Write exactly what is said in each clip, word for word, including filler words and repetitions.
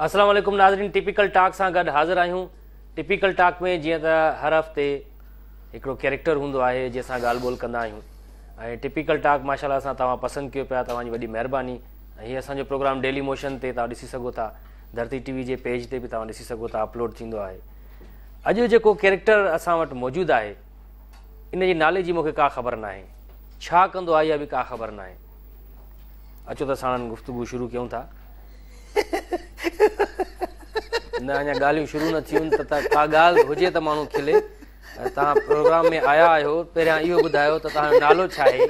अस्सलाम वालेकुम नाज़रीन, टिपिकल टॉक सां गॾु हाज़िर आहियूं। टिपिकल टॉक में जीअं त हर हफ़्ते हिकिड़ो कैरेक्टर हूंदो आहे जंहिंसां ॻाल्हि ॿोल कंदा आहियूं ऐं टिपिकल टॉक माशाल्लाह सां तव्हां पसंदि कयो पिया, तव्हांजी वॾी महिरबानी। ऐं हीअ असांजो प्रोग्राम डेली मोशन ते तव्हां ॾिसी सघो था, धरती टीवी जे पेज ते बि तव्हां ॾिसी सघो था, अपलोड थींदो आहे। अॼु जेको कैरेक्टर असां वटि मौजूदु आहे इन जे नाले जी मूंखे का ख़बर न आहे, छा कंदो आहे इहा बि का ख़बर न आहे। अचो त साणनि गुफ्तगू शुरू कयूं था। न अञा ॻाल्हियूं शुरू न थियूं त का ॻाल्हि हुजे त माण्हू खिले। तव्हां प्रोग्राम में आया आहियो, पहिरियां इहो ॿुधायो त तव्हांजो नालो छा आहे,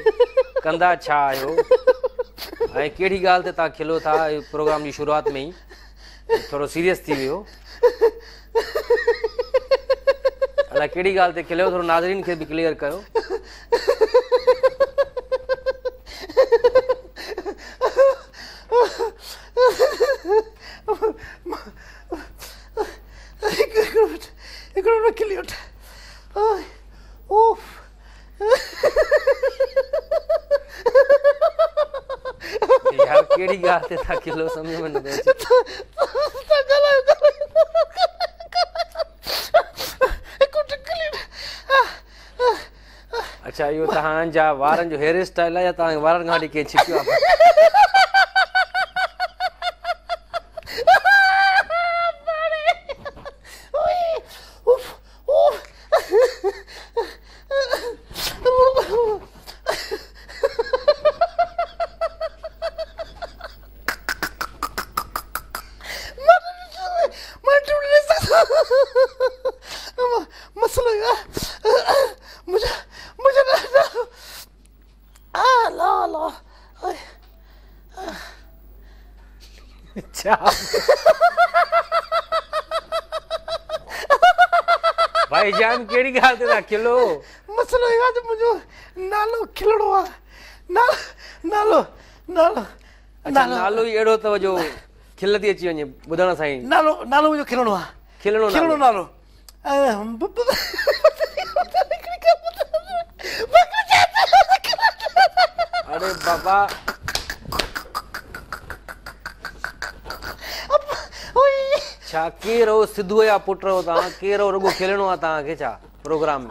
कंदा छा आहियो ऐं कहिड़ी ॻाल्हि ते तव्हां खिलो था। प्रोग्राम जी शुरूआत में ई थोरो सीरियस थी वियो, अलाए कहिड़ी ॻाल्हि ते खिलियो, थोरो नाज़रीन खे बि क्लियर कयो। यार केड़ी ॻाल्हि ते था खिलो, सम्झ में नथो अचे। अच्छा, इहो तव्हांजा वारनि जो हेयर स्टाइल आहे या तव्हां वारनि खां वठी कंहिं छिकियो आहे? भाईजान केड़ी ॻाल्हि ते था खिलो? मसइलो इहो आहे त मुंहिंजो नालो खिलड़ो आहे। नालो नालो अच्छा, नालो ई अहिड़ो अथव जो खिल थी अची वञे ॿुधण सां ई। नालो नालो मुंहिंजो खिलड़ो आहे। खिलड़ो खिलड़ो नालो। अरे बाबा, छा केरु हो? सिद्धूअ जा पुट हो तव्हां? केरु हो? रुॻो खिलणो आहे तव्हांखे छा प्रोग्राम में?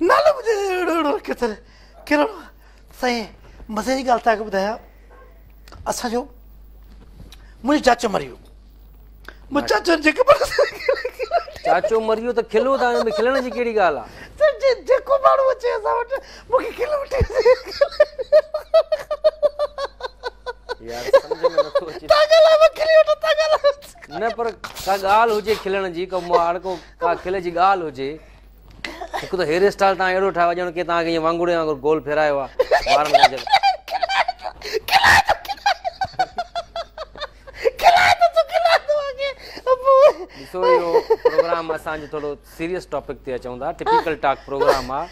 नालो मुंहिंजो अहिड़ो अहिड़ो रखियो अथनि, खिलड़ो। साईं मज़े जी ॻाल्हि तव्हांखे ॿुधायां, असांजो मुंहिंजो चाचो मरी वियो। मुंहिंजो चाचो जेको चाचो मरी वियो त खिलो था, हिन में खिलण जी कहिड़ी ॻाल्हि आहे? जेको माण्हू अचे असां वटि मूंखे खिल वठी। यार सम्झ में नथो अचे। न पर का ॻाल्हि हुजे खिलण जी, को मार को का खिल जी ॻाल्हि हुजे। हिकु त हेयर स्टाइल तव्हां अहिड़ो ठाहियो आहे ॼण की तव्हांखे ईअं वांगुड़े वांगुरु गोल फेरायो आहे वारनि खां। ॾिसो इहो प्रोग्राम असांजो थोरो सीरियस टॉपिक ते अचूं था, टिपिकल टॉक प्रोग्राम आहे।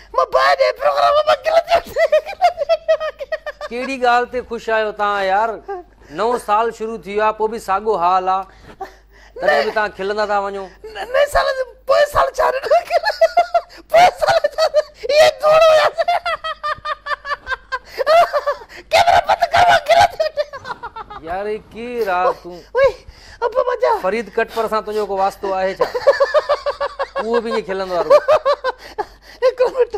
कहिड़ी ॻाल्हि ते ख़ुशि आहियो तव्हां? यार नओं साल शुरू थी वियो आहे, पोइ बि साॻियो हाल आहे, तॾहिं बि तव्हां खिलंदा था वञो। नए साल पोइ साल छा पोइ साल इहे धूड़ हुया कैमरा बंद कर। यार हे केरु आहे तूं? अबा मजा फरीद कटपर सां तुंहिंजो को वास्तो आहे छा? उहो बि ईअं खिलंदो आहे। हिकिड़ो मिंट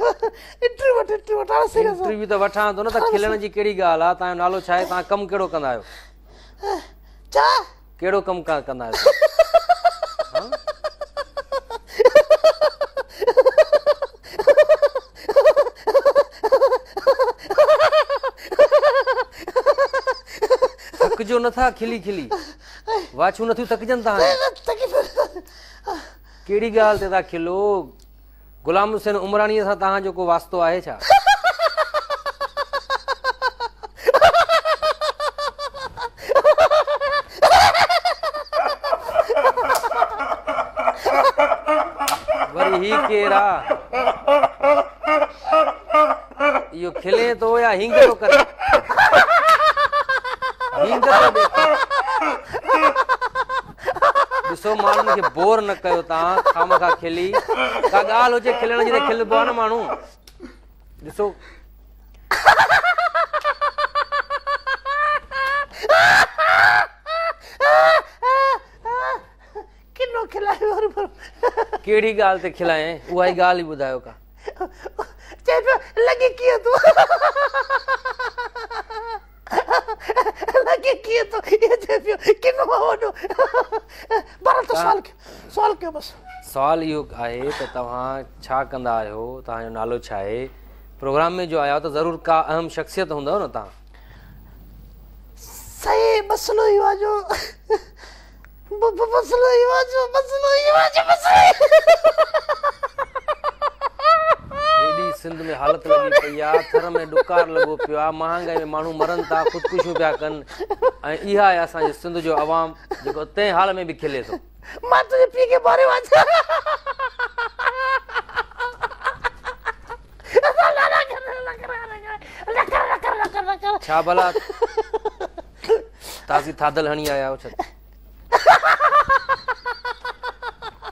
इंटरव्यू वठ, इंटरव्यू वठ, हाणे सीरियस इंटरव्यू त वठां थो न, त खिलण जी कहिड़ी ॻाल्हि आहे? तव्हांजो नालो छा आहे? तव्हां कमु कहिड़ो कंदा आहियो? छा कहिड़ो कमु कंदा आहियो? थकिजो नथा खिली खिली, वाछूं नथियूं थकिजनि तव्हां। कहिड़ी ॻाल्हि ते था खिलो? गुलाम हुसैन उमराणीअ सां तव्हांजो को वास्तो आहे छा? वरी ही केरु आहे? इहो खिले थो या हींग थो करे? हींग थो ॾे। ॾिसो माण्हुनि खे बोर न कयो तव्हां खामखा खिली। का ॻाल्हि हुजे खिलण जी त खिलबो आहे न माण्हू। ॾिसो कहिड़ी ॻाल्हि ते खिलाए उहा ई ॻाल्हि ई ॿुधायो का चए पियो लॻे कीअं थो लॻे कीअं थो इहो चए पियो किनो आहे वॾो। बहरहाल त सवाल कयो सवाल कयो बसि। सवाल इहो आहे त तव्हां छा कंदा आहियो, तव्हांजो नालो छा आहे? प्रोग्राम में जो आया त ज़रूरु का अहम शख्सियत हूंदव न तव्हां। सही मसइलो इहो आहे जो मसइलो इहो आहे जो मसइलो इहो आहे जो मसइलो हेॾी सिंध में हालत लॻी पई आहे, थर में ॾुकार लॻो पियो आहे, महांगाई में माण्हू मरनि था, ख़ुदकुशियूं पिया कनि ऐं इहा आहे असांजे सिंध जो अवाम जेको तंहिं हाल में बि खिले थो। मां तुंहिंजे पीउ खे मारियो आहे। छा भला ताज़ी थादल हणी आया आहियो छा?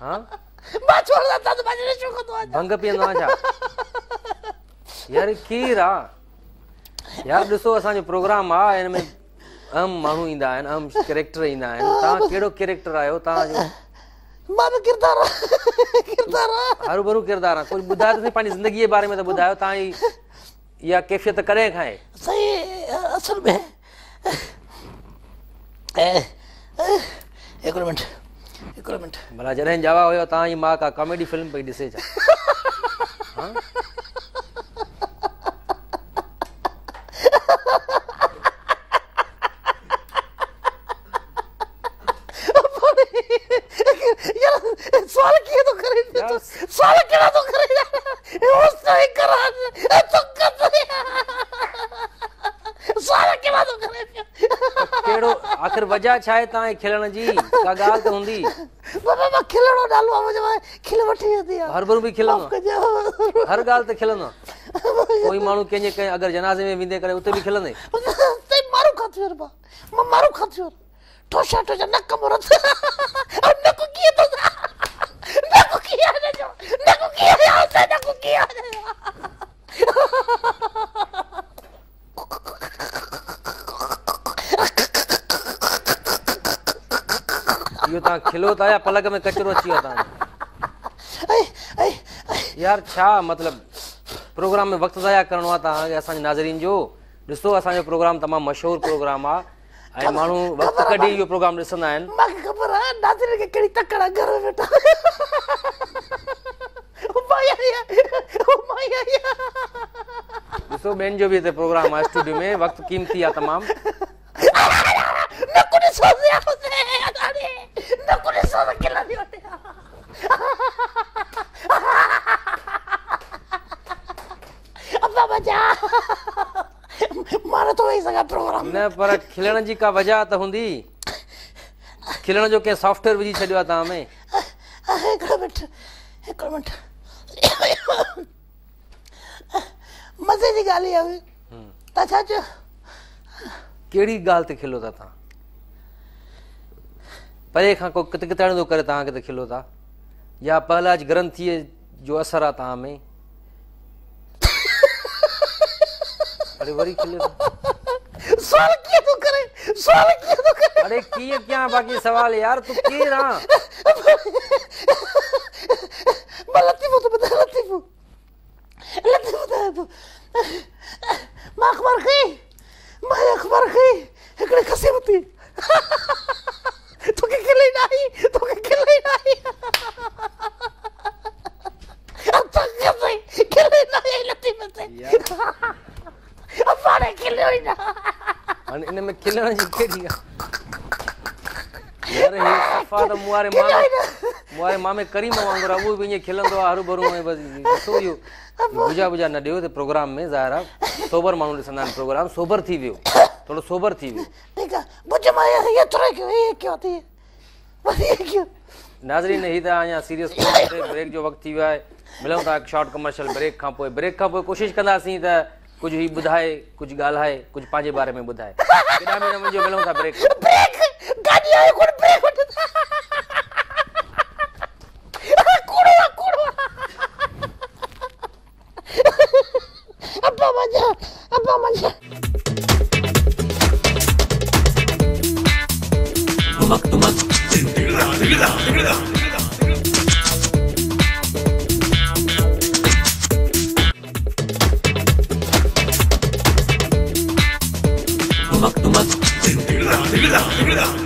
हा भंग पीअंदो आहियां छा? यार केरु आहे यार? ॾिसो असांजो प्रोग्राम आहे, हिन में अहम माण्हू ईंदा आहिनि, अहम कैरेक्टर ईंदा आहिनि। तव्हां कहिड़ो कैरेक्टर आहियो तव्हांजो? मां बि किरदार किरदार हरू भरू किरदार आहे। कुझु ॿुधायो त सही पंहिंजी ज़िंदगीअ जे बारे में त ॿुधायो, तव्हांजी इहा कैफ़ियत कॾहिं खां आहे? सही असल में हिकिड़ो मिंट हिकिड़ो मिंट। भला जॾहिं ॼावा हुयो तव्हांजी माउ का कॉमेडी फिल्म पई ॾिसे छा? हा सवाल कीअं थो करे पियो? सवाल कहिड़ा थो करे? सवाल कहिड़ा थो करे पियो? कहिड़ो आख़िर वजह छा आहे तव्हांजे खिलण जी? का ॻाल्हि त हूंदी। बाबा मां खिलणो नालो आहे मुंहिंजो, खिल वठी वेंदी आहे। हर भरू बि खिलंदो, हर ॻाल्हि ते खिलंदो। कोई माण्हू कंहिंजे कंहिं अगरि जनाज़े में वेंदे करे उते बि खिलंदे? मारू खां थियो मां मारू खां थियो ठोशा ठोशा नक मुरत नक कीअं थो नक कीअं नक कीअं नक कीअं। इहो तव्हां खिलो था या पलक में कचरो अची वियो तव्हांजो? यार छा मतिलबु प्रोग्राम में वक़्तु ज़ाया करिणो आहे तव्हांखे असांजे नाज़रीन जो? ॾिसो असांजो प्रोग्राम तमामु मशहूरु प्रोग्राम आहे ऐं माण्हू वक़्तु कढी इहो प्रोग्राम ॾिसंदा आहिनि। मूंखे ख़बर आहे नाज़रीन खे कहिड़ी तकड़ आहे घर में वेठा। ॾिसो ॿियनि जो बि हिते प्रोग्राम आहे स्टूडियो में, वक़्तु क़ीमती आहे तमामु। न पर खिलण जी का वजह त हूंदी। खिलण जो कंहिं सॉफ्टवेयर विझी छॾियो आहे तव्हां में? हिकिड़ो मिंट हिकिड़ो मिंट। मज़े जी ॻाल्हि इहा हुई। तव्हां छा चयो? कहिड़ी ॻाल्हि ते खिलो था तव्हां? परे खां को कित किताणो थो करे तव्हांखे त खिलो था, या पहलाज ग्रंथीअ जो असरु आहे तव्हां में? अरे वरी खिले थो। सवाल कीअं थो करे? सवाल कीअं थो करे? अरे कीअं कयां बाक़ी सवाल यार, तूं केरु आहीं? मां लतीफ़ो थो ॿुधायां, लतीफ़ो लतीफ़ो ॿुधायां थो। मां अख़बार खई, मां अख़बार खई, हिकिड़ी खसी वरिती। तोखे खिल ई न आई, तोखे खिल ई न आई। खिल ई न आई लतीफ़े ते। हाणे खिलियो ई न। हाणे इन में खिलण जी कहिड़ी ॻाल्हि यार? हे सफ़ा त मूं वारे मामे मूं वारे मामे करीम वांगुरु आहे, उहो बि ईअं खिलंदो आहे हरू भरू। ऐं बसि ॾिसो इहो बुझा बुझा न ॾियो त प्रोग्राम में ज़ाहिर आहे सोबर माण्हू ॾिसंदा आहिनि प्रोग्राम। सोबर थी वियो, थोरो सोबर थी वियो। ठीकु आहे, बुझ मां एतिरो कयो, ईअं कयो थी वरी कयो। नाज़रीन, ही त अञा सीरियस कोन, ब्रेक जो वक़्तु थी वियो आहे। मिलूं था हिकु शॉर्ट कमर्शियल ब्रेक खां पोइ। ब्रेक खां पोइ कोशिशि कंदासीं त कुझु ही ॿुधाए, कुझु ॻाल्हाए, कुझु पंहिंजे बारे में ॿुधाए। केॾां बि न वञिजो, मिलूं था ब्रेक। ब्रेक गाॾी आहे कोन ब्रेक वठि कूड़ो आहे कूड़ो। अब्बा मजा अब्बा मजा। तुमक तुमक। Welcome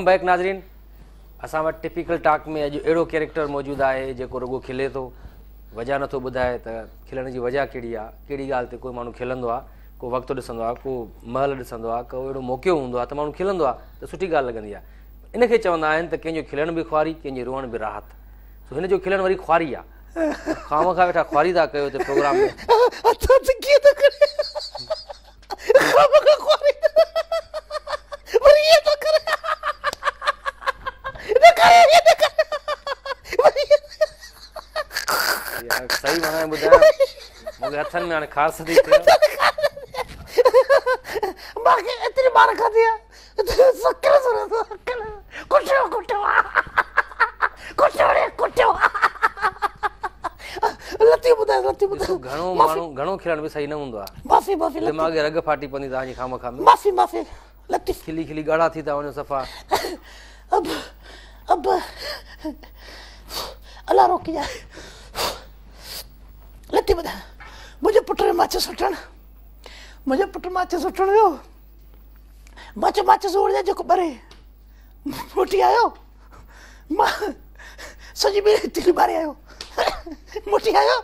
back नाज़रीन। असां वटि टिपिकल टॉक में अॼु अहिड़ो कैरेक्टर मौजूदु आहे जेको रुगो खिले थो, वजह नथो ॿुधाए त खिलण जी वजह कहिड़ी आहे, कहिड़ी ॻाल्हि ते कोई माण्हू खिलंदो आहे, को वक़्तु ॾिसंदो आहे, को महल ॾिसंदो आहे, को अहिड़ो मौक़ो हूंदो आहे त माण्हू खिलंदो आहे त सुठी ॻाल्हि लॻंदी आहे। इनखे चवंदा आहिनि त कंहिंजो खिलणु बि ख़्वारी, कंहिंजो रोअणु बि राहत। सो हिन जो खिलणु वरी ख़्वारी आहे। खाम खां वेठा ख़्वारी था कयो हिते प्रोग्राम में। सही माना ॿुधायो, मूंखे हथनि में हाणे खास थी थिए। मूंखे एतिरी मार खाधी आहे, सकर कुटियो कुटियो कुटियो रे कुटियो। लती ॿुधायो, लती ॿुधायो। घणो माण्हू घणो खिलणु बि सही न हूंदो आहे। माफ़ी माफ़ी, दिमाग़ रग फाटी पवंदी तव्हांजी खाम खां में। माफ़ी माफ़ी, लती खिली खिली ॻाढ़ा थी था वञो सफ़ा। अब अब अलाह रोकी जाए। लती ॿुधायो, मुंहिंजो पुटु माचिस वठणु, मुंहिंजो पुटु माचिस वठणु वियो, मां चयो माचिस ओढ़ जेको ॿरे। मोटी आयो, मां सॼी ॿिड़ी तिली ॿारे आयो। मोटी आयो,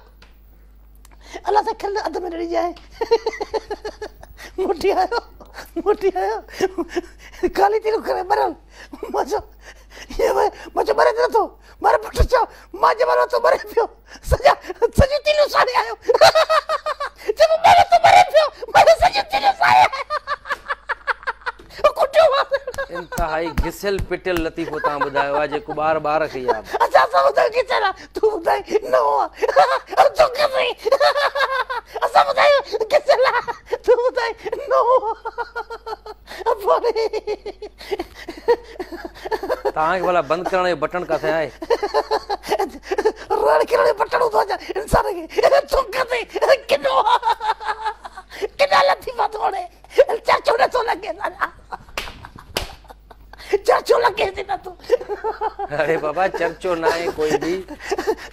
अलाह सां खिल अध में ॾिणी जाए। मोटी आयो, मोटी आयो, काली तिलू करे ॿरल। मां चयो मां चयो ॿरे नथो। मारे पुट चयो मां जंहिं महिल थो ॿरे पियो, सॼा सॼी तिलू साड़े आयो। चयो ॿरे थो ॿरे पियो, मारे सॼी तिलू साड़े आयो। कुटियो इंतिहाई घिसियल पिटियल लतीफ़ो तव्हां ॿुधायो आहे जेको ॿार ॿार खे यादि। अच्छा असां ॿुधायो घिसियल आहे, तूं ॿुधाए नओं आहे। असां ॿुधायो घिसियल आहे, तूं ॿुधाए नओं आहे। तव्हांखे भला बंदि करण जो बटण किथे आहे? रड़ करण जो बटण हूंदो आहे इंसान खे। तूं किनो किना लतीफ़ा थो वणे, चर्चो नथो लॻे, चर्चो लॻे थी न तूं। अरे बाबा चर्चो न आहे कोई बि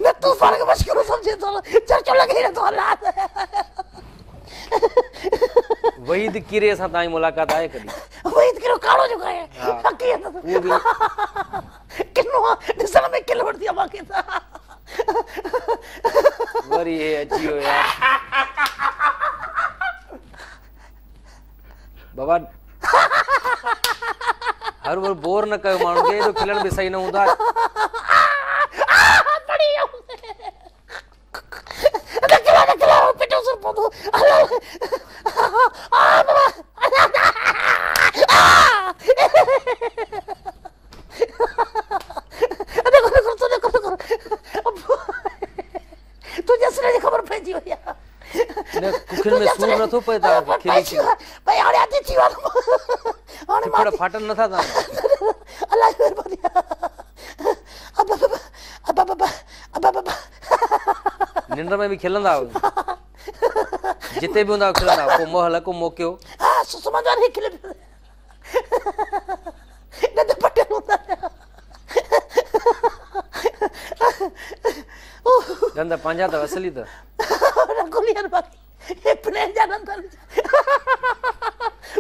न, तूं पाण खे मश्किल सम्झे थो, चर्चो लॻे नथो। अलाह वहीद किरे सां तव्हांजी मुलाक़ात आहे कॾहिं? वहीद किरो काड़ो जेको आहे, उहो बि किनो ॾिसण में किल वठंदी आहे मूंखे त। वरी हे अची वियो यार बाबा। हर बार बोर न कयो माण्हू खे, एॾो खिलणु बि सही न हूंदो आहे। ख़बर पइजी वई आहे। कुखियुनि में सूर नथो पए तव्हांखे? खिली खिली भई हाणे आदि थी वियो आहे, हाणे फ़िफड़ फाटनि नथा तव्हांजा। अलाह जी महिरबानी। अब अब अब अब अब अब निंड में बि खिलंदा आहियो? जिते बि हूंदा खिलंदा, को महल को मौक़ो। हा सुम्हंदो आहे खिले न त पटियल हूंदा। ॾंद पंहिंजा अथव असली त गुलियन बाकी हे प्लेन जा ॾंद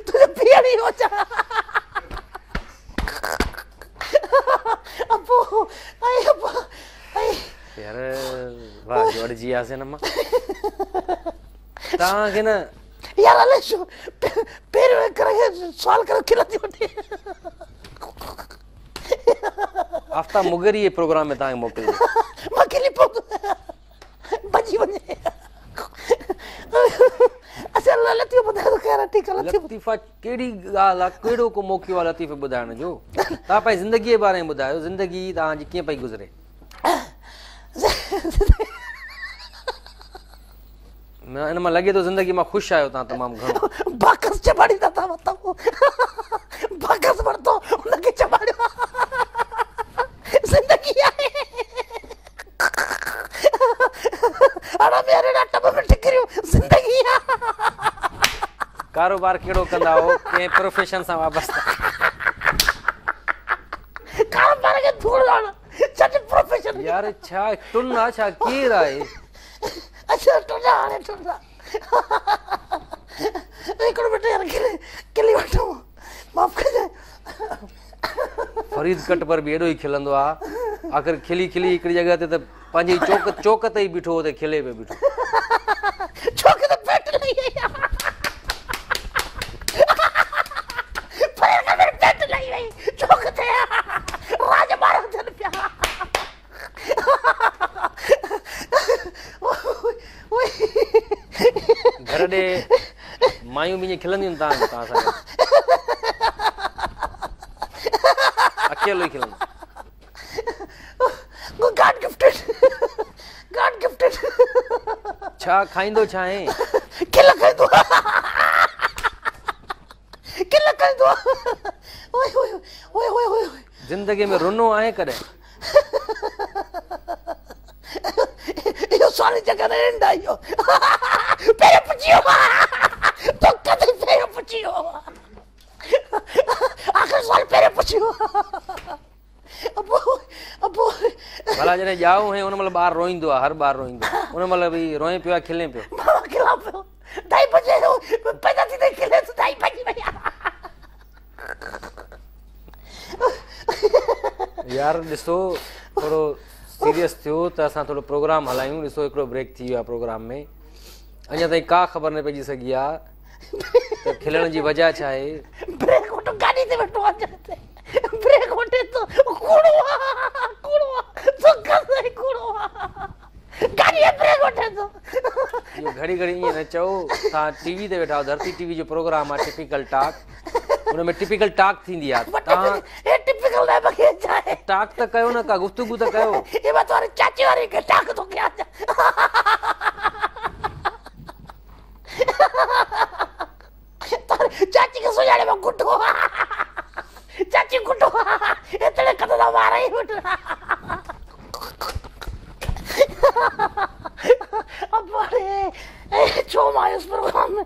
तुंहिंजो पीअण ई हो छा? अबो आई अबो आई यार वाह जो अड़जी वियासीं न मां तव्हांखे न यार अलाए छो पहिरियों करे सवाल करे खिलंदी वठे। आफ्ताब मुगरी प्रोग्राम में तव्हांखे मोकिलियो। मां खिली पवंदो भॼी वञे। अच्छा लतीफ़ो ॿुधायो ख़ैर ठीकु आहे। लतीफ़ा कहिड़ी ॻाल्हि आहे, कहिड़ो को मौक़ो आहे लतीफ़े ॿुधाइण जो? तव्हां पंहिंजी ज़िंदगीअ जे बारे में ॿुधायो, ज़िंदगी तव्हांजी कीअं पई गुज़रे? इन मां लॻे थो ज़िंदगी मां ख़ुशि आहियो तव्हां तमामु घणो। बाकस चबाड़ींदा था वतऊं, बाकस वरितो हुनखे चबाड़ियो। ज़िंदगी आहे हाणे मेरे टब में टिकरियूं ज़िंदगी आहे। कारोबार कहिड़ो कंदा हो, कंहिं प्रोफेशन सां वाबस्ता? कारोबार खे धूड़ हाणे छॾ प्रोफेशन। यार छा टुन आहे छा, केरु आहे? अच्छा टुन हाणे टुन। فريد ڪٽپر बि एॾो ई खिलंदो आहे। आख़िर खिली खिली हिकिड़ी जॻह ते त पंहिंजी चौक चौक ते ई बीठो हो त खिले पियो बीठो। चौक ते पेट लही वई फरीद कटपर पेट लही वई चौक ते राज मारा थियनि पिया। घर ॾे मायूं बि ईअं खिलंदियूं आहिनि तव्हां तव्हां सां अकेलो ई खिलंदो। God gifted God gifted. छा खाईंदो छा आहे? खिल खाईंदो खिल खाईंदो। ओए ओए ओए ओए ओए ज़िंदगी में रुनो आहे कॾहिं? इहो सारी जॻह ते एंड I वियो। पहिरियों पुछी वियो तो कॾहिं पहिरियों पुछी वियो आख़िरी सवाल पहिरियों पुछी वियो। अबो अबो भला जॾहिं ॼाओ हुए उन महिल ॿार रोईंदो आहे, हर ॿार रोईंदो आहे, उन महिल बि रोए पियो आहे खिले पियो? मां खिलां पियो। ढाई बजे पैदा थींदे खिले थो ढाई बजी वई। यार ॾिसो थोरो सीरियस थियो त असां थोरो प्रोग्राम हलायूं। ॾिसो हिकिड़ो ब्रेक थी वियो आहे प्रोग्राम में, अञा ताईं का ख़बर न पइजी सघी आहे त खिलण जी वजह छा आहे। ब्रेक वठो गाॾी ते वेठो आहे ब्रेक वठे थो कूड़ो आहे कूड़ो आहे तो कसई कूड़ो आहे गाॾी ब्रेक वठे थो। इहो घड़ी घड़ी ईअं न चओ। तव्हां टीवी ते वेठा आहियो, धरती टीवी जो प्रोग्राम आहे टिपिकल टॉक, उन में टिपिकल टॉक थींदी आहे। तव्हां हे टिपिकल न मूंखे छा आहे? टॉक त कयो न, का गुफ्तगू त कयो। हे मां तुम्हारे चाची वारी खे टॉक थो कयां। चाची खे सुञाणे मां गुठो चाची गुठो एतिरे कदम वारा ई वठा। अबा रे छो मां आयुसि प्रोग्राम में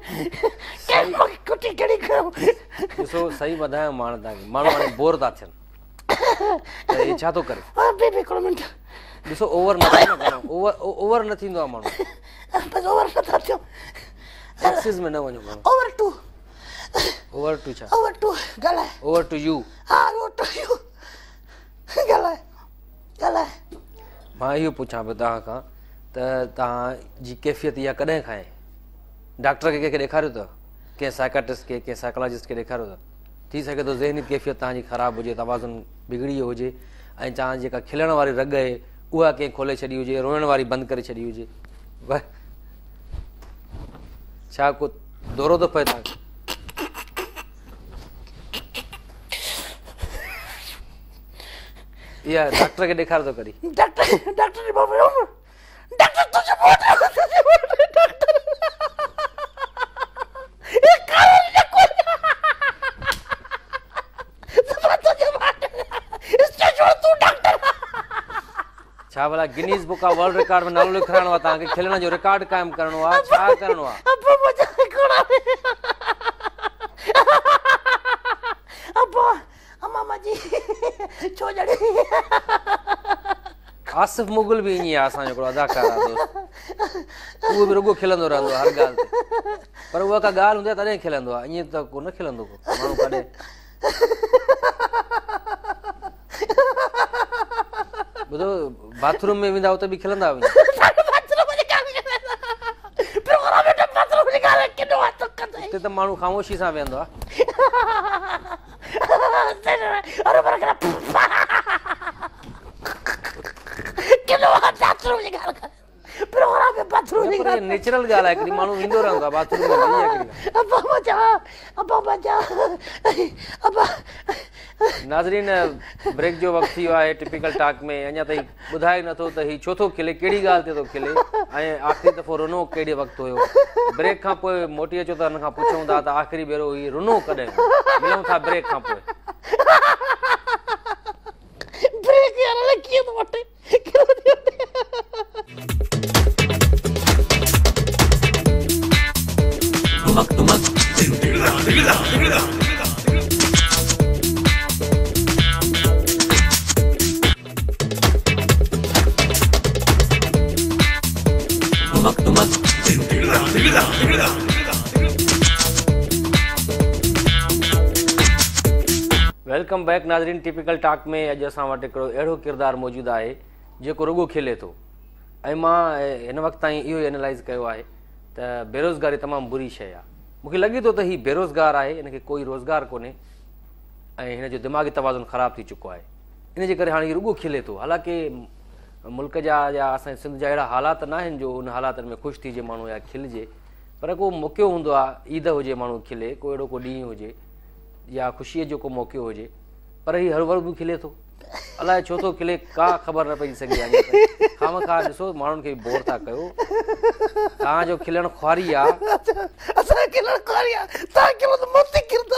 कंहिं कुटी कहिड़ी कयूं। ॾिसो सही ॿुधायां मां तव्हांखे, माण्हू हाणे बोर था थियनि त हे छा थो करे। बि हिकिड़ो मिंट ॾिसो ओवर न थियो न घणो, ओवर ओवर न थींदो आहे माण्हू, बसि ओवर नथा थियूं। एक्सेस में न वञो घणो। ओवर टू ओवर टू छा? ओवर टू ॻाल्हाए। Over to you. हा ओवर टू you ॻाल्हाए ॻाल्हाए। मां इहो पुछां पियो तव्हां खां त तव्हांजी कैफ़ियत इहा कॾहिं खां आहे? डॉक्टर खे कंहिंखे ॾेखारियो अथव? कंहिं साइकाट्रिस्ट खे, कंहिं साइकोलॉजिस्ट खे ॾेखारियो अथव? थी सघे थो ज़हनी कैफ़ियत तव्हांजी ख़राबु हुजे, तवाज़ुन बिगड़ी वियो हुजे ऐं तव्हांजी जेका खिलण वारी रग आहे उहा कंहिं खोले छॾी हुजे, रोइण वारी बंदि करे छॾी हुजे। छा को दौरो थो पए तव्हांखे? इहा डॉक्टर खे ॾेखारियो अथव कॾहिं? डॉक्टर डॉक्टर डॉक्टर तुझे मोट तुझे मोट डॉक्टर ये कारण ने कोई तुझे मोट इससे छोड़ तू डॉक्टर। छा भला Guinness book of world record में नालो लिखाइणो आहे तव्हांखे? खिलण जो रिकॉर्ड क़ाइमु करिणो आहे, छा करिणो आहे? अबा मुंहिंजा हिकिड़ा अबा अम्मा जी छो ॼणी। आसिफ़ मुग़ल बि ईअं आहे, असांजो हिकिड़ो अदाकार आहे दोस्त, उहो बि रुॻो खिलंदो रहंदो आहे हर ॻाल्हि ते, पर उहा का ॻाल्हि हूंदी आहे तॾहिं खिलंदो आहे, ईअं त कोन खिलंदो को माण्हू कॾहिं। ॿुधो बाथरूम में वेंदा उते बि खिलंदा हुआ? उते त माण्हू ख़ामोशी सां वेहंदो आहे। नेचुरल ॻाल्हि आहे, हिकिड़ी माण्हू वेंदो रहंदो आहे बाथरूम में। नाज़रीन ब्रेक जो वक़्तु थी वियो आहे टिपिकल टॉक में। अञा ताईं ॿुधाए नथो त हीउ छो थो खिले, कहिड़ी ॻाल्हि ते थो खिले ऐं आख़िरी दफ़ो रुनो कहिड़े वक़्तु हुयो। ब्रेक खां पोइ मोटी अचो त हिन खां पुछूं था त आख़िरी भेरो हीउ रुनो कॾहिं। मिलूं था ब्रेक खां पोइ। ब्रेक यार अलाए कीअं थो वठे। Welcome back नाज़रीन, टिपिकल टॉक में अॼु असां वटि हिकिड़ो अहिड़ो किरदारु मौजूदु आहे जेको रुगो खिले थो। ऐं मां हिन वक़्त ताईं इहो ई एनालाइज़ कयो आहे त बेरोज़गारी तमामु बुरी शइ आहे। मूंखे लॻे थो त हीउ बेरोज़गार आहे, हिनखे कोई रोज़गार कोन्हे ऐं हिन जो दिमागी तवाज़ुन ख़राबु थी चुको आहे। इन जे करे हाणे हीउ रुगो खिले थो। हालांकि मुल्क जा या असांजे सिंध जा अहिड़ा हालात न आहिनि जो उन हालातनि में ख़ुशि थीजे माण्हू या खिलिजे, पर को मौक़ो हूंदो आहे, ईद हुजे माण्हू खिले, को अहिड़ो को ॾींहुं हुजे या ख़ुशीअ जो को मौक़ो हुजे, पर हीउ हर वक़्तु बि खिले थो। अलाए छो थो खिले का ख़बर न पइजी सघे आहे। खाम खा ॾिसो माण्हुनि खे बोर था कयो। तव्हांजो खिलणु ख़्वारी आहे। असांजो खिलणु ख़्वारी आहे, तव्हां खिलो त मोती किरंदो।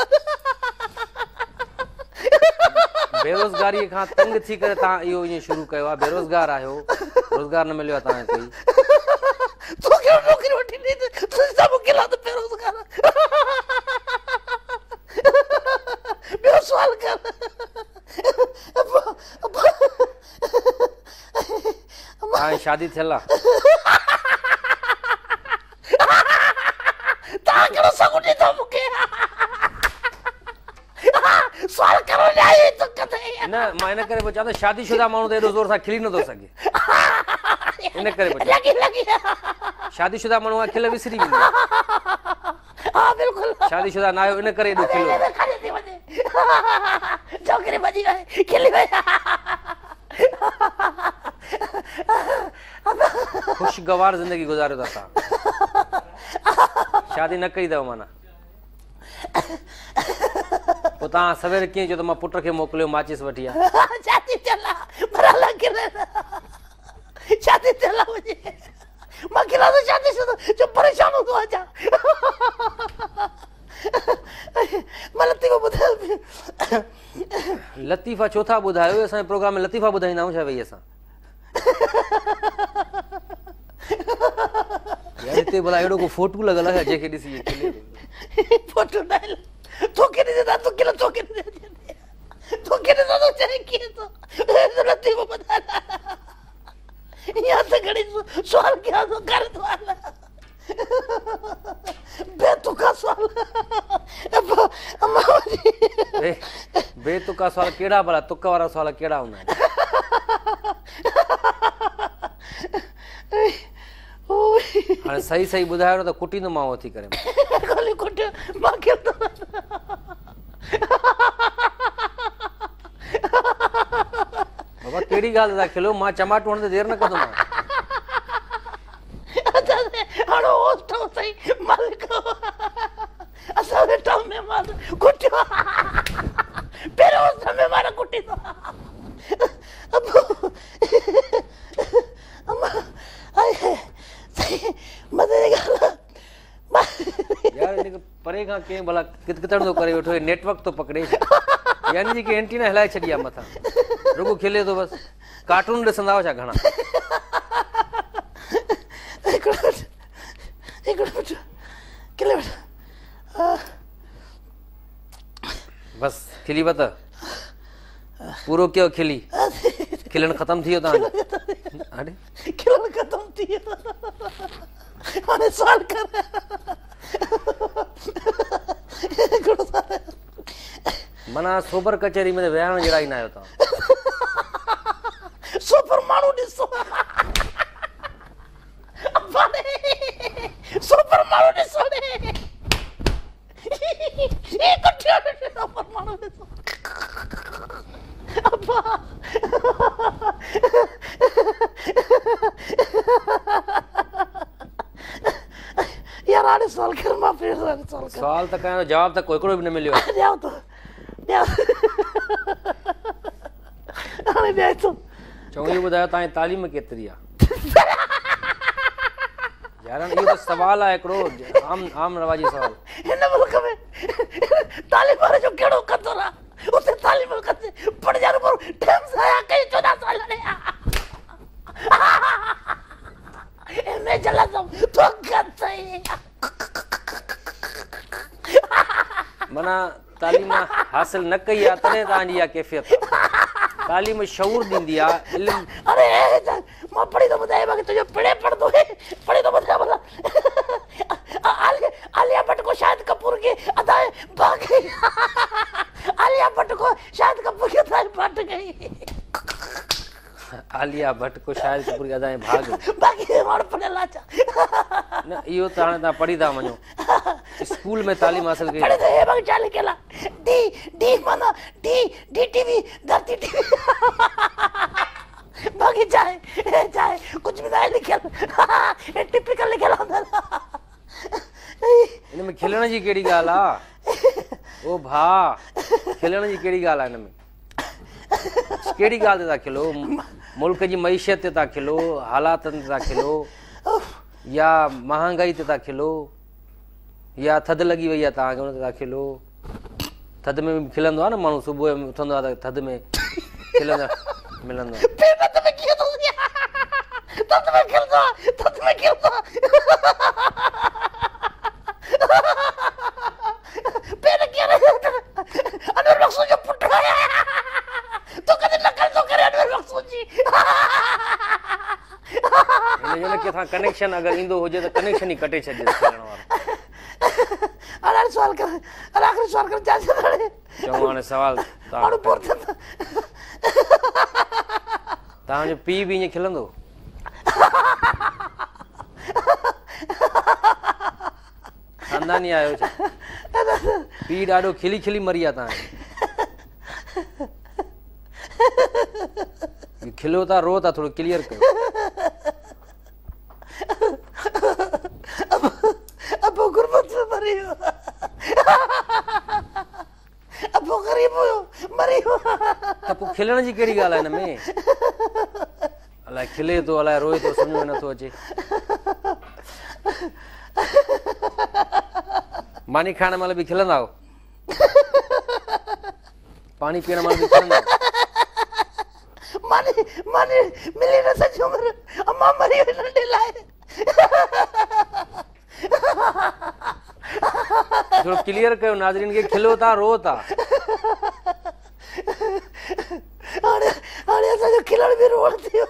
बेरोज़गारीअ खां तंग थी करे तव्हां इहो ईअं शुरू कयो आहे। बेरोज़गार आहियो, रोज़गार न मिलियो आहे तव्हांखे कोई। तोखे नौकरी वठी ॾिनी त सभु खिला त बेरोज़गार। ॿियो सुवाल कर। तव्हांजी शादी थियल आहे? तव्हां कहिड़ो सघु ॾींदो मूंखे? सुवाल करो न, मां इन करे पियो चवां त शादीशुदा माण्हू त एॾो ज़ोर सां खिली नथो सघे, इन करे पियो चवां। शादीशुदा माण्हू खां खिल विसरी वेंदी आहे। हा बिल्कुलु, शादीशुदा न आहियो इन करे एॾो खिलो। छोकिरी भॼी वई, खिली वई। ख़ुशगवार ज़िंदगी गुज़ारियो था तव्हां। शादी न कई अथव माना पोइ तव्हां सवेर कीअं चयो त मां पुट खे मोकिलियो माचिस वठी आहे? शादी थियल आहे, पर अलाए खिले शादी थियल आहे मुंहिंजी। मां खिलां थो शादी शुदा जो परेशान हूंदो आहे छा? मां लतीफ़ो ॿुधायो। लतीफ़ा छो था ॿुधायो? असांजे प्रोग्राम में लतीफ़ा ॿुधाईंदा आहियूं छा भई असां? यार हिते भला अहिड़ो को फोटू लॻल आहे जंहिंखे ॾिसी फोटू न आहिनि। तोखे ॾिसे था, तूं खिल, तोखे ॾिसे, तोखे ॾिसां थो चए कीअं थो लतीफ़ो ॿुधाए। या त घणी सुवाल कयां थो, कर सुवाल बेतुका सुवाल। बेतुका सुवाल कहिड़ा भला? तुक वारा सुवाल कहिड़ा हूंदा आहिनि? हाणे सही सही ॿुधायो न त कुटींदोमांव थी करे। मां खिलंदो। बाबा कहिड़ी ॻाल्हि था खिलो? मां चमाटो हणंदे देरि न कंदोमांव। हाणे होस्ट सही मालिक असां वेठा महिमान कुटियो पहिरियों होस्ट महिमान कुटींदो। मज़े जी ॻाल्हि यार, हिनखे परे खां कंहिं भला कितकितण थो करे वेठो, नेटवर्क थो पकड़े, यानी जेके एंटीना हिलाए छॾी आहे मथां, रुगो खिले थो बसि। कार्टून ॾिसंदा हुआ छा घणा? बसि खिली वत पूरो कयो, खिली खिलणु ख़तमु थी वियो तव्हांजो। हाणे खिलणु ख़तमु थी वियो, हाणे सवाल कर। माना सोबर कचहरी में विहारण जहिड़ा ई न आहियो तव्हां। सोबर माण्हू ॾिसो, सोबर माण्हू ॾिसो, सोबर माण्हू ॾिसो। अब्बा यार हाणे सवाल कर, मां फिर सवाल कर। सवाल त कयां, जवाब त कोई हिकिड़ो बि न मिलियो आहे। ॾियां थो, ॾियां हाणे ॾियां थो। चओ इहो ॿुधायो तव्हांजी तालीम केतिरी आहे? यार इहो त सवाल आहे हिकिड़ो आम आम रवाजी सवाल। हिन मुल्क में तालीम वारे जो कहिड़ो कदुरु आहे? उते तालीम कंदे पढ़िया पर टाइम सां आया कई चौॾहं साल एम ए जलासम तो कथई। माना तालीम हासिल न कई आहे तॾहिं तव्हांजी इहा कैफ़ियत। तालीम शऊर ॾींदी आहे, इल्म। अरे मां पढ़ी थो ॿुधाए बाक़ी तुंहिंजो पढ़े पढ़ंदो पढ़ी थो ॿुधाए भला। आलिया भट्ट को शाहिद कपूर की अदाएं भाग गई। आलिया भट्ट को कई। आलिया भट्ट को शाहिद कपूर की अदाएं भाग बाकी माण्हू पढ़ियल आहे छा? न इहो त हाणे तव्हां पढ़ी था वञो, स्कूल में तालीम हासिल कई। पढ़े त हे बाकी छा लिखियल आहे? डी डी माना डी डी टीवी धरती टीवी बाकी छा आहे? हे छा आहे? कुझु बि न आहे लिखियल, हे टिपिकल लिखियल आहे। हिन में खिलण जी कहिड़ी ॻाल्हि आहे? ओ भाउ, खिलण जी कहिड़ी ॻाल्हि आहे? हिन में कहिड़ी ॻाल्हि ते था खिलो? मुल्क जी मईशत ते था खिलो, हालातनि ते था खिलो, या महांगाई ते था खिलो, या थधि लॻी वई आहे तव्हांखे उन ते था खिलो? थधि में बि खिलंदो आहे न माण्हू, सुबुह जो उथंदो आहे त थधि में खिलंदो मिलंदो आहे। केथां कनेक्शन अगरि ईंदो हुजे त कनेक्शन ई कटे छॾे खिलण वारो। हाणे सवाल कर, हाणे आख़िरी सवाल कर, चओ हाणे सवाल। तव्हांजो पीउ बि ईअं खिलंदो? ख़ानदानी आहियो छा? पीउ ॾाढो खिली खिली मरी आहे तव्हांजे। खिलो था रो था, थोरो क्लियर कयो। अबो गुरबत में मरी वियो, अबो ग़रीब हुयो मरी वियो। त पोइ खिलण जी कहिड़ी ॻाल्हि आहे हिन में? अलाए खिले थो अलाए रोए थो, सम्झ में नथो अचे। मानी खाइण महिल बि खिलंदा आहियो? पाणी पीअण महिल बि खिलंदा आहियो? मानी मानी मिली न सॼी उमिरि, अम्मा मरी वई नंढे लाइ। थोरो क्लियर कयो नाज़रीन खे, खिलो था रो था? हाणे हाणे असांजो खिलण बि रोअण थी वियो,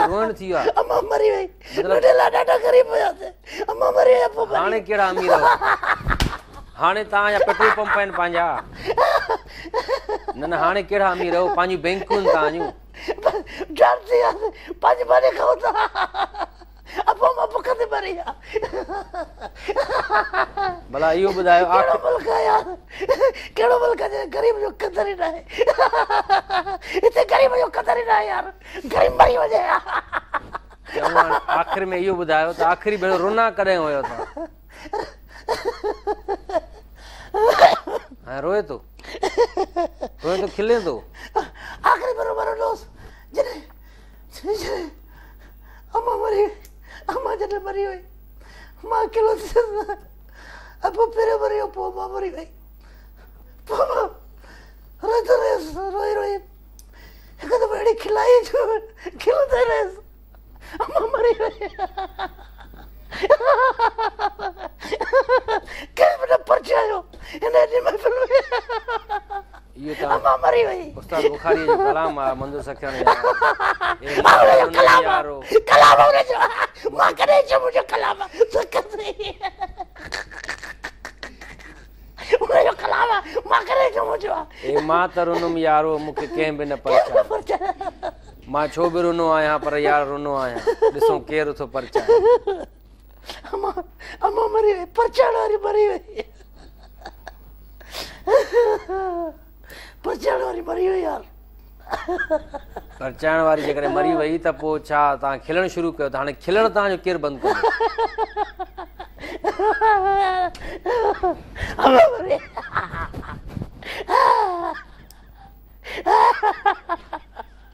रोअण थी वियो आहे। अम्मा मरी वई नंढे लाइ, ॾाढा ग़रीब हुयासीं, अम्मा मरी वई। पोइ हाणे कहिड़ा अमीर आहियो? हाणे तव्हांजा पेट्रोल पंप आहिनि पंहिंजा। न न हाणे कहिड़ा अमीर आहियो? पंहिंजूं बैंकूं आहिनि तव्हांजूं। डर थी वियासीं, पंहिंजी मानी खाऊं था, अबो मां बुख ते मरी विया। भला इहो ॿुधायो, कहिड़ो मुल्क आहे यार, कहिड़ो मुल्क आहे ग़रीब जो क़दर ई न आहे? हिते ग़रीब जो क़दर ई न आहे यार, ग़रीब मरी वञे। आख़िर में इहो ॿुधायो त आख़िरी भेरो रुना कॾहिं हुयो तव्हां? हाणे रोए थो, रोए थो, खिले थो। आख़िरी भेरो मां रुनोसि जॾहिं जॾहिं अम्मा मरी, अम्मा जॾहिं मरी वई मां अकेलो थी वियुसि। अबो पहिरियों मरी वियो, पोइ मां मरी वई। पोइ मां रोईंदो रहियुसि, रोई रोई हिकु दफ़ो अहिड़ी खिलाई जो खिलंदो ई रहियुसि। अम्मा मरी वई, कंहिं बि न परचायो हिन एॾी महफ़िल में। इहो त अम्मा मरी वई। उस्ताद बुखारीअ जो कलाम आहे, मंज़ूर सखियाणी जो कलाम हुनजो, मां कॾहिं चयो मुंहिंजो कलाम हुनजो कलाम आहे, मां कॾहिं चयो मुंहिंजो आहे। ए मां त रुनुमि यारो, मूंखे कंहिं बि न परचायो। मां छो बि रुनो आहियां, पर यार रुनो आहियां, ॾिसो केरु थो परचाए। अम्मा अम्मा मरी वई, परचाइण वारी मरी वई, परचाइण वारी मरी वई यार। परचाइण वारी जेकॾहिं मरी वई त पोइ छा तव्हां खिलणु शुरू कयो त हाणे खिलणु तव्हांजो केरु बंदि कंदो?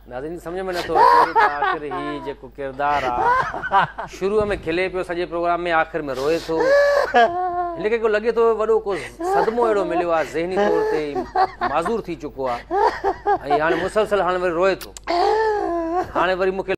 नाज़रीन सम्झ में नथो अचे त आख़िर ही जेको किरदारु आहे शुरू में खिले पियो सॼे प्रोग्राम में, आख़िर में रोए थो। हिनखे को लॻे थो वॾो को सदमो अहिड़ो मिलियो आहे, ज़हनी तौर ते माज़ूर थी चुको आहे ऐं हाणे मुसलसल हाणे वरी रोए थो। हाणे वरी मूंखे